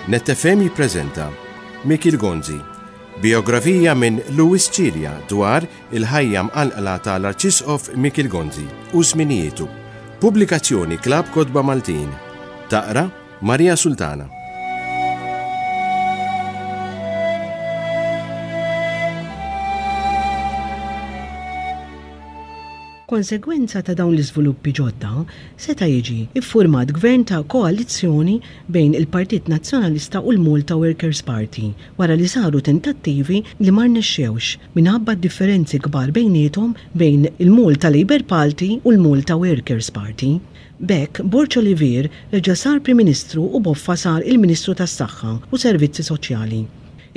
Net FM jippreżenta Mikiel Gonzi, bijografija minn Louis Cilia dwar il-ħajja mqanqla tal-Arċisqof Mikiel Gonzi u żminijietu. Pubblikazzjoni Klabb Kotba Maltin. Taqra Maria Sultana. Konsegwenza ta' dawn l-iżviluppi ġodda, seta' jiġi ffurmat gvern ta' koalizzjoni bejn il-Partit Nazzjonalista u l-Malta Workers' Party wara li saru tentattivi li ma rnexxewx minħabba d-differenzi kbar bejniethom bejn il-Malta Labour Party u l-Malta Workers' Party. B'hekk, Borg Olivier reġa' sar Prim Ministru u Boffa sar il-Ministru tas-Saħħa u Servizzi Soċjali.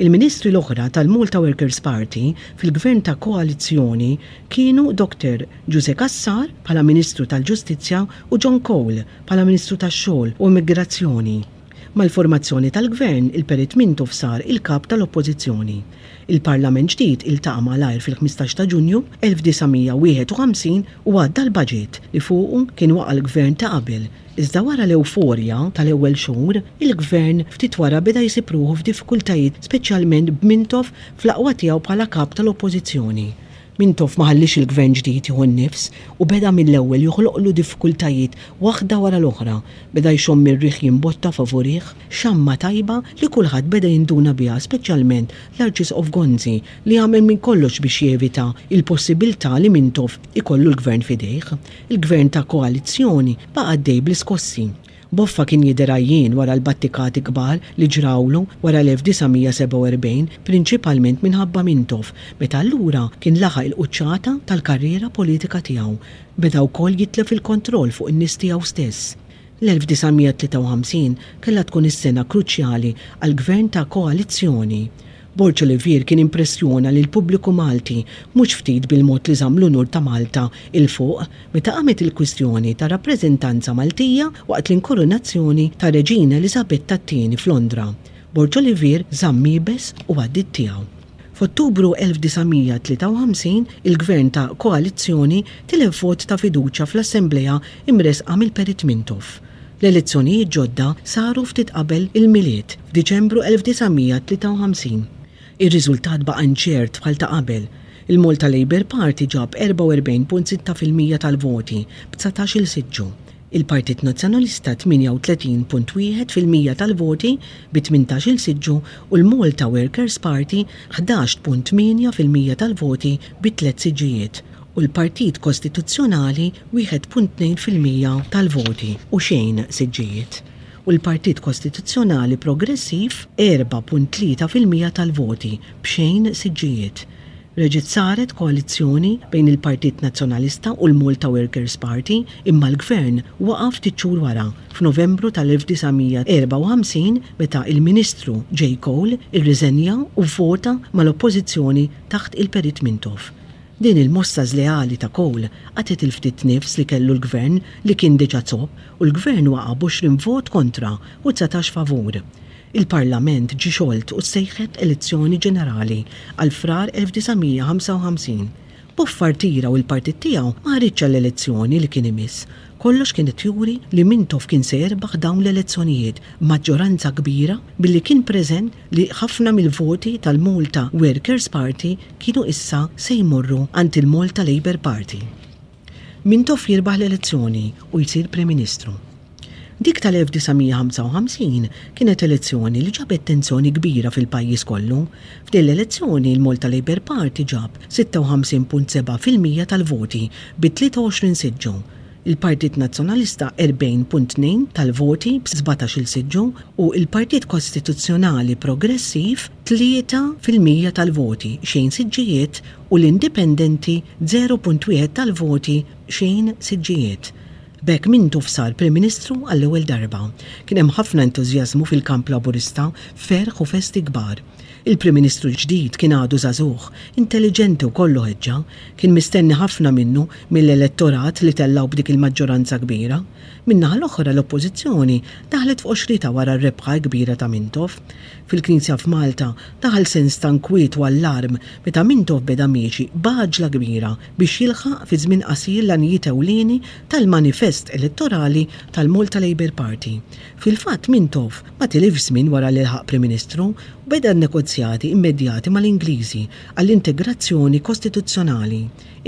Il-Ministri l-oħra tal-Malta Workers' Party fil-Gvern ta' koalizzjoni kienu Dr Ġużè Cassar bħala Ministru tal-Ġustizzja u John Cole bħala Ministru tax-Xogħol u Immigrazzjoni. Mal-formazzjoni tal-Gvern, il-Perit Mintoff sar il-Kap tal-Oppożizzjoni. Il-Parlament ġdid iltaqa' malajr fil-15 ta' Ġunju 1951 u għadda l-baġit li fuqu kien waqa' l-Gvern ta' qabel. Iżda wara l-ewforja tal-ewwel xhur, il-Gvern ftit wara beda jsib ruħu f'diffikultajiet speċjalment b'Mintoff fl-aqwa tiegħu bħala Kap tal-Oppożizzjoni. Mintoff ma ħalliex il-Gvern ġdid jieħu n-nifs u beda mill-ewwel joħloqlu diffikultajiet waħda wara l-oħra. Beda jxomm ir-riħ jimbotta favurih, xamma tajba li kulħadd beda jinduna biha speċjalment l-Arċisqof Gonzi li għamel minn kollox biex jevita l-possibiltà li Mintoff ikollu l-Gvern f'idejh. Il-Gvern ta' koalizzjoni baqa' għaddej bl-iskossi. Boffa kien jidher għajjien wara l-battikati kbar li ġrawlu wara l-1947 prinċipalment minħabba Mintoff meta allura kien laħaq il-quċċata tal-karriera politika tiegħu. Beda wkoll jitlef il-kontroll fuq in-nies tiegħu stess. L-1953 kellha tkun is-sena kruċjali għall-Gvern ta' koalizzjoni. Borg Olivier kien impressjona lill-pubbliku Malti mhux ftit bil-mod li żamm l-unur ta' Malta 'l fuq meta qamet il-kwistjoni ta' rappreżentanza Maltija waqt l-inkurunazzjoni ta' Reġina Eliżabetta t-Tieni f'Londra. Borg Olivier żamm iebes u għaddiet tiegħu. F'Ottubru 1953 il-Gvern ta' koalizzjoni tilef vot ta' fiduċja fl-Assemblea imressqa mill-Perit Mintoff. L-elezzjonijiet ġodda saru ftit qabel il-Milied, f'Diċembru 1953. Ir-riżultat baqa' inċert bħal ta' qabel. Il-Malta Labour Party ġab 44.6% tal-voti, b' 19-il siġġu. Il-Partit Nazzjonalista 38.1% tal-voti, bi 18-il siġġu u l-Malta Workers' Party 11.8% tal-voti bi tliet siġġijiet u l-Partit Kostituzzjonali 1.2% tal-voti u xejn siġġijiet u l-Partit Kostituzzjonali Progressiv 4.3% tal-voti b'xejn siġġijiet. Reġgħet saret koalizzjoni bejn il-Partit Nazzjonalista u l-Malta Workers' Party imma l-Gvern waqa' ftit xhur wara, f'Novembru tal-1954 meta il-Ministru J. Cole irriżenja u vvota mal-Oppożizzjoni taħt il-Perit Mintoff. Din il-mossa żleali ta' Cole qatgħet il-ftit nifs li kellu l-Gvern li kien diġà zopp u l-Gvern waqa' b'20 vot kontra u 19 favur. Il-Parlament ġie xolt u ssejħet elezzjoni ġenerali għal Frar 1955. Boffa rtira u l-partit tiegħu ma ħariġx għall-elezzjoni li kien imiss. Kollox kien qed juri li Mintoff kien se jerbaħ dawn l-elezzjonijiet b'maġġoranza kbira billi kien preżent li ħafna mill-voti tal-Malta Workers' Party kienu issa se jmorru għand il-Malta Labour Party. Mintoff jirbaħ l-elezzjoni u jsir Prim Ministru. Dik tal-1955 kienet elezzjoni li ġabet tensjoni kbira fil-pajjiż kollu. F'din l-elezzjoni l-Malta Labour Party ġab 56.7% tal-voti bi 23 siġġu, il-Partit Nazzjonalista 40.2 tal-voti b' 17-il siġġu u l-Partit Kostituzzjonali Progressiv 3% tal-voti, xejn siġġijiet, u l-Indipendenti 0.1 tal-voti, xejn siġġijiet. B'hekk Mintoff sar Prim Ministru għall-ewwel darba. Kien hemm ħafna entużjażmu fil-kamp Laburista, ferħ u festi kbar. Il-Prim Ministru l-ġdid kien għadu żagħżugħ, intelliġenti u kollu ħeġġa. Kien mistenni ħafna minnu mill-elettorat li tellgħu b'dik il-maġġoranza kbira. Min-naħa l-oħra l-Oppożizzjoni daħlet f'qoxritha wara r-rebħa kbira ta' Mintoff. Fil-Knisja f'Malta daħal sens ta' nkwiet u allarm meta Mintoff beda miexi b'għaġla kbira biex jilħaq fi żmien qasir l-għanijiet ewlieni tal-manifest elettorali tal-Malta Labour Party. Fil-fatt Mintoff ma tilifx żmien wara li lħaq Prim Ministru u beda n-negozjati immedjati mal-Ingliżi għall-integrazzjoni kostituzzjonali,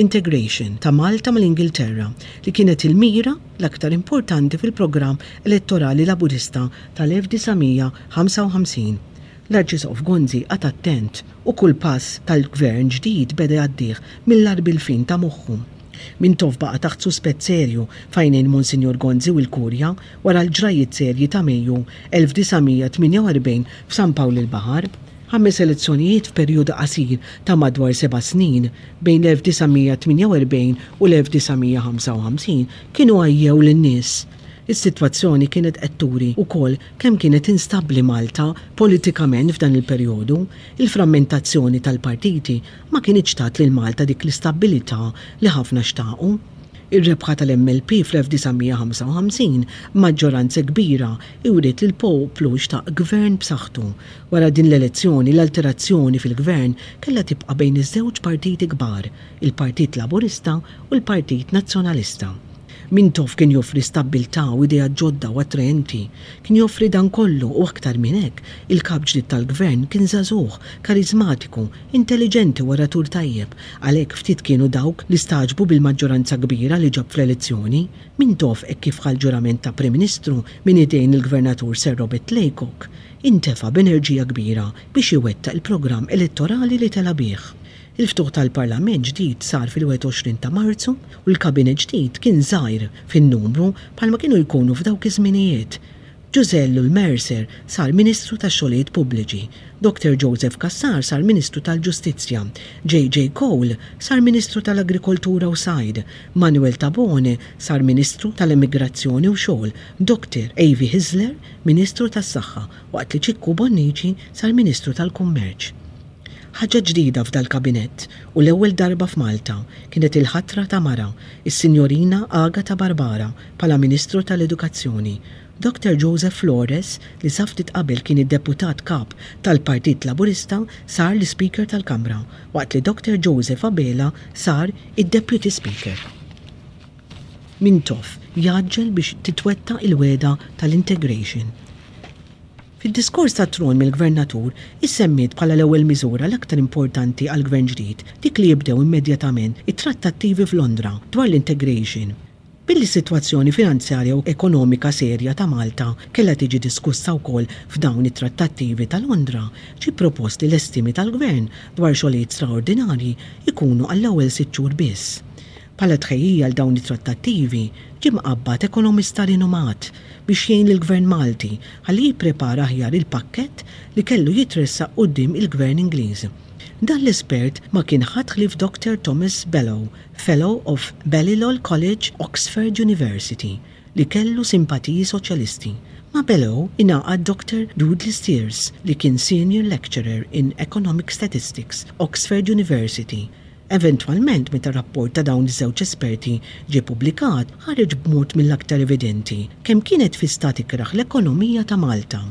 integration, ta' Malta mal-Ingilterra, li kienet il-mira l-aktar importanti fil-programm elettorali Laburista tal-1955. L-Arċisqof Gonzi qagħad attent u kull pass tal-Gvern ġdid beda jgħaddih mill-għarb il-fin ta' moħħu. Mintoff baqa' taħt suspett serju f'għajnejn Monsinjur Gonzi u l-Kurja wara l-ġrajjiet serji ta' Mejju 1948 f'San Pawl il-Baħar. Ħames elezzjonijiet f'perjodu qasir ta' madwar seba' snin, bejn l-1948 u l-1955, kienu għajjew lin-nies. Is-sitwazzjoni kienet qed turi wkoll kemm kienet instabbli Malta politikament f'dan il-perjodu. Il-frammentazzjoni tal-partiti ma kinitx tat lil Malta dik l-istabbilità li ħafna xtaqu. Ir-rebħa tal-MLP fl-1955 b'maġġoranza kbira wriet li l-poplu xtaq gvern b'saħħtu. Wara din l-elezzjoni l-alterazzjoni fil-gvern kellha tibqa' bejn iż-żewġ partiti kbar, il-Partit Laburista u l-Partit Nazzjonalista. Mintoff kien joffri stabbiltà u ideat ġodda u attraenti. Kien joffri dan kollu u aktar minn hekk, il-kap ġdid tal-gvern kien żagħżugħ, kariżmatiku, intelliġenti u oratur tajjeb. Għalhekk ftit kienu dawk li stagħġbu bil-maġġoranza kbira li ġab fl-elezzjoni. Mintoff hekk kif ħa l-ġurament ta' Prim Ministru minn idejn il-Gvernatur Sir Robert Laycock, intefa' b'enerġija kbira biex iwettaq il-programm elettorali li tela' bih. Il-ftuħ tal-Parlament ġdid sar fil-21 ta' Marzu u l-Kabinett ġdid kien żgħir fin-numru bħalma kienu jkunu f'dawk iż-żminijiet. Ġużè Ellul Mercer sar Ministru tax-Xogħlijiet Pubbliċi, Doctor Joseph Cassar sar Ministru tal-Ġustizzja, JJ Cole sar Ministru tal-Agrikoltura u Sajd, Manuel Tabone sar Ministru tal-Emigrazzjoni u Xogħol, Doctor AV Hyzler Ministru tas-Saħħa waqt li Ċikku Bonnici sar Ministru tal-Kummerċ. Ħaġa ġdida f'dal-kabinett, u l-ewwel darba f'Malta, kienet il-ħatra ta' mara, is-Sinjorina Agata Barbara bħala Ministru tal-Edukazzjoni. Doctor Joseph Flores, li sa ftit qabel kien id-Deputat Kap tal-Partit Laburista, sar l-Ispeaker tal-Kamra, waqt li Doctor Joseph Abela sar id-Deputy Speaker. Mintoff jgħaġġel biex titwettaq il-wegħda tal-integration. Fid-diskors tat-tron mill-Gvernatur issemmiet bħala l-ewwel miżura l-aktar importanti għall-Gvern ġdid dik li jibdew immedjatament it-trattattivi f'Londra dwar l-integration. Billi s-sitwazzjoni finanzjarja u ekonomika serja ta' Malta kellha tiġi diskussa wkoll f'dawn it-trattattivi ta' Londra, ġie propost li l-estimi tal-Gvern dwar xogħlijiet straordinarji jkunu għall-ewwel sitt xhur biss. Bħala tħejjija għal dawn it-trattattivi, ġie mqabbad ekonomista rinomat biex jgħin lill-Gvern Malti ħalli jipprepara aħjar il-pakkett li kellu jitressaq quddiem il-Gvern Ingliż. Dan l-espert ma kien ħadd ħlief Doctor Thomas Bellow, Fellow of Balliol College, Oxford University, li kellu simpatiji soċjalisti. Ma' Bellow ingħaqad Doctor Dudley Steers li kien Senior Lecturer in Economic Statistics, Oxford University. Eventwalment, meta r-rapport ta' dawn iż-żewġ esperti ġie ppubblikat, ħareġ b'mod mill-aktar evidenti kemm kienet fi stat ikrah l-ekonomija ta' Malta.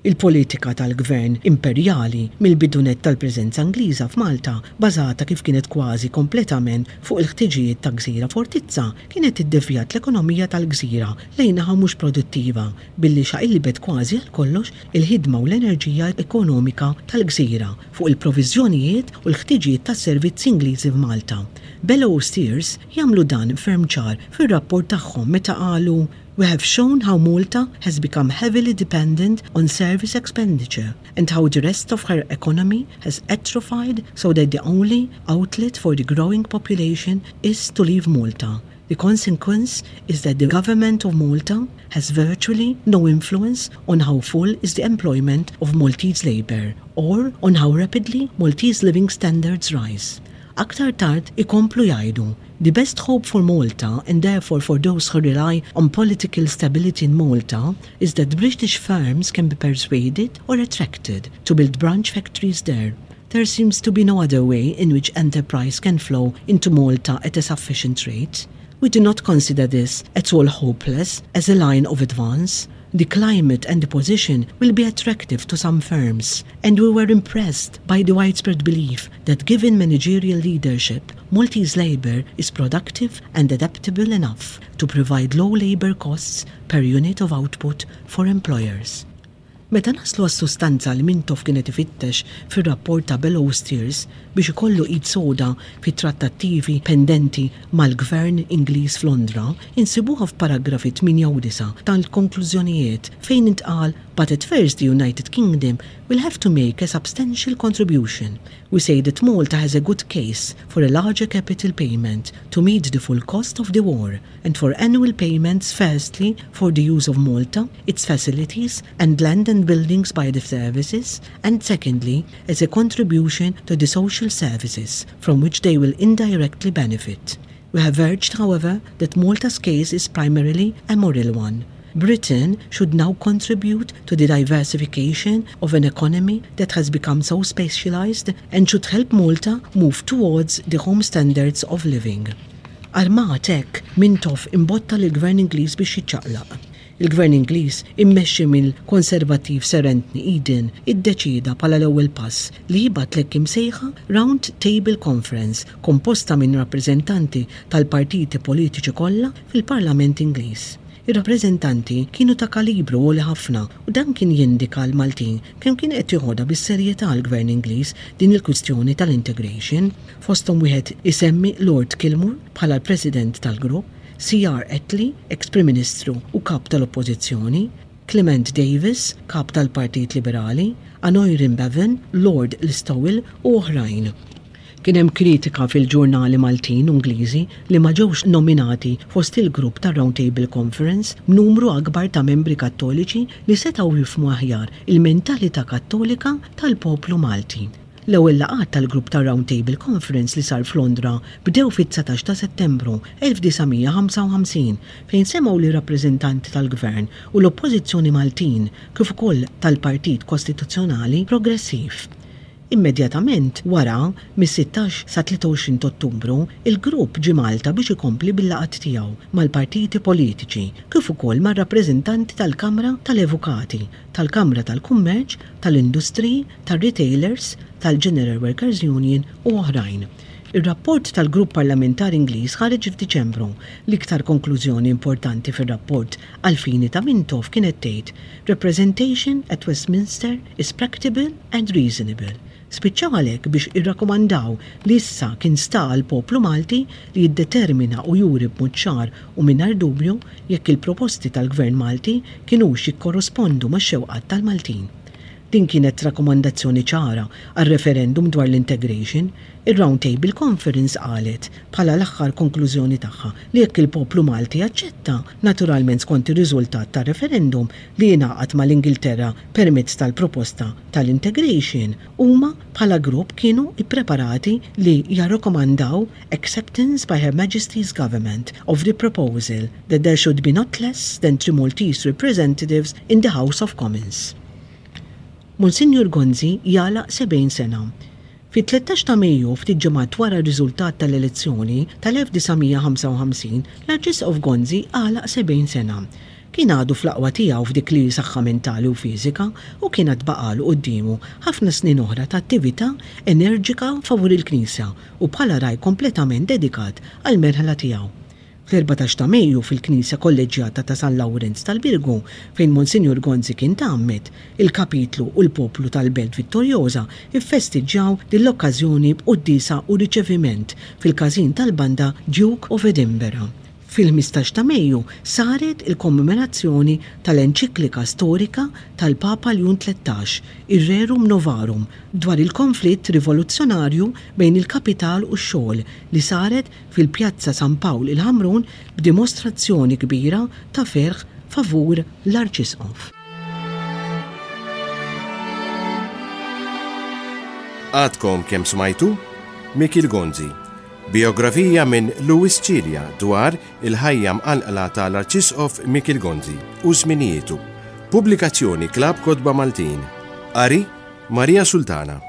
Il-politika tal-gvern imperjali mill-bidu nett tal-preżenza Ingliża f'Malta, bażata kif kienet kważi kompletament fuq il-ħtiġijiet ta' gżira fortizza, kienet iddevjat l-ekonomija tal-gżira lejn naħa mhux produttiva billi xaqilbet kważi għal kollox il-ħidma u l-enerġija ekonomika tal-gżira fuq il-proviżjonijiet u l-ħtiġijiet tas-servizzi Ingliżi f'Malta. Bellow u Steers jagħmlu dan ferm ċar fir-rapport tagħhom meta qalu, We have shown how Malta has become heavily dependent on service expenditure and how the rest of her economy has atrophied so that the only outlet for the growing population is to leave Malta. The consequence is that the government of Malta has virtually no influence on how full is the employment of Maltese labour or on how rapidly Maltese living standards rise. Aktar tard ikomplu jgħidu, The best hope for Malta and therefore for those who rely on political stability in Malta is that British firms can be persuaded or attracted to build branch factories there. There seems to be no other way in which enterprise can flow into Malta at a sufficient rate. We do not consider this at all hopeless as a line of advance. The climate and the position will be attractive to some firms, and we were impressed by the widespread belief that given managerial leadership, Maltese labour is productive and adaptable enough to provide low labour costs per unit of output for employers. Meta naslu għas-sustanza li Mintoff kien qed ifittex fir-rapport ta' Bellows Tears biex ikollu id soda fit-trattattivi pendenti mal-Gvern Ingliż f'Londra, insibuha f'paragrafi 8 u 9 tal-konklużjonijiet fejn intqal But at first the United Kingdom will have to make a substantial contribution. We say that Malta has a good case for a larger capital payment to meet the full cost of the war and for annual payments firstly for the use of Malta, its facilities and land and buildings by the services and secondly as a contribution to the social services from which they will indirectly benefit. We have urged, however, that Malta's case is primarily a moral one. Britain should now contribute to the diversification of an economy that has become so specialized and should help Malta move towards the home standards of living. Armat hekk, Mintoff imbotta lill-Gvern Ingliż biex jiċċaqlaq. Il-Gvern Ingliż, immexxi mill-Konservattiv Sir Anthony Eden, iddeċieda bħala l-ewwel pass li jibgħat l-hekk imsejħa Round Table Conference komposta minn rappreżentanti tal-partiti politiċi kollha fil-Parlament Ingliż. Ir-rappreżentanti kienu ta' kalibru għoli ħafna u dan kien jindika għall-Maltin kemm kien qed joħodha bis-serjetà l-Gvern Ingliż din il-kwistjoni tal-integration. Fosthom wieħed isemmi Lord Kilmore bħala l-President tal-grupp, CR Attlee, eks Prim Ministru u Kap tal-Oppożizzjoni, Clement Davis, Kap tal-Partit Liberali, Aneurin Bevan, Lord Listowel u oħrajn. Kien hemm kritika fil-ġurnali Maltin u Ingliżi li ma ġewx nominati fost il-grupp tar-Round Table Conference b'numru akbar ta' membri Kattoliċi li setgħu jifhmu aħjar il-mentalità Kattolika tal-poplu Malti. L-ewwel laqgħat tal-grupp tar-Round Table Conference li sar f'Londra bdew fit-19 ta' Settembru 1955 fejn semgħu lir-rappreżentanti tal-Gvern u l-Oppożizzjoni Maltin kif ukoll tal-Partit Kostituzzjonali Progressiv. Immedjatament wara, mis-16 sa 23 t'Ottubru, il-grupp ġie Malta biex ikompli bil-laqgħat tiegħu mal-partiti politiċi kif ukoll mar-rappreżentanti tal-Kamra tal-Evukati, tal-Kamra tal-Kummerċ, tal-Industriji, tar-Retailers, tal-General Workers Union u oħrajn. Ir-rapport tal-Grupp Parlamentari Ingliż ħareġ f'Diċembru. L-iktar konklużjoni importanti fir-rapport għall-fini ta' Mintoff kienet tgħid Representation at Westminster is practicable and reasonable. Spiċċaw għalhekk biex irrakkomandaw li issa kien sta għall-poplu Malti li jiddetermina u juri b'mod ċar u mingħajr dubju jekk il-proposti tal-Gvern Malti kinux jikkorrospondu max-xewqat tal-Maltin. Din kienet rakkomandazzjoni ċara għar-referendum dwar l-integration. Ir-Round Table Conference qalet, bħala l-aħħar konklużjoni tagħha, li jekk il-poplu Malti jaċċetta, naturalment skont ir-riżultat tar-referendum, li jingħaqad mal-Ingilterra permezz tal-proposta tal-integration, huma bħala grupp kienu ppreparati li jarrakomandaw acceptance by Her Majesty's Government of the proposal that there should be not less than three Maltese representatives in the House of Commons. Monsinjur Gonzi jagħlaq 70 sena. Fit-13 ta' Mejju, ftit ġimgħat wara r-riżultat tal-elezzjoni tal-1955, l-Arċisqof Gonzi għalaq 70 sena. Kien għadu fl-aqwa tiegħu f'dik li hi saħħa mentali u fiżika u kien għad baqagħlu quddiemu ħafna snin oħra ta' attività enerġika favur il-Knisja u bħala ragħaj kompletament dedikat għall-merħla tiegħu. Fl-14 ta' Mejju fil-Knisja Kolleġġjata ta' San Lawrenz tal-Birgu, fejn Monsinjur Gonzi kien tgħammed, il-Kapitlu u l-poplu tal-Belt Vittoriosa ffestiġġjaw din l-okkażjoni b'quddiesa u riċeviment fil-Każin tal-Banda Duke of Edinburgh. Fil-15 ta' Mejju saret il-kommemorazzjoni tal-Enċiklika Storika tal-Papa Ljun 13, ir-Rerum Novarum, dwar il-konflitt rivoluzzjonarju bejn il-kapital u x-xogħol li saret fil-Pjazza San Pawl il-Ħamrun b'dimostrazzjoni kbira ta' ferħ favur l-Arċisqof. Għadkom kemm smajtu? Mikiel Gonzi. Bijografija minn Louis Cilia dwar il-ħajja mqanqla ta' l-Arċisqof Mikiel Gonzi u żminijietu. Pubblikazzjoni Klabb Kotba Maltin. Qari, Maria Sultana.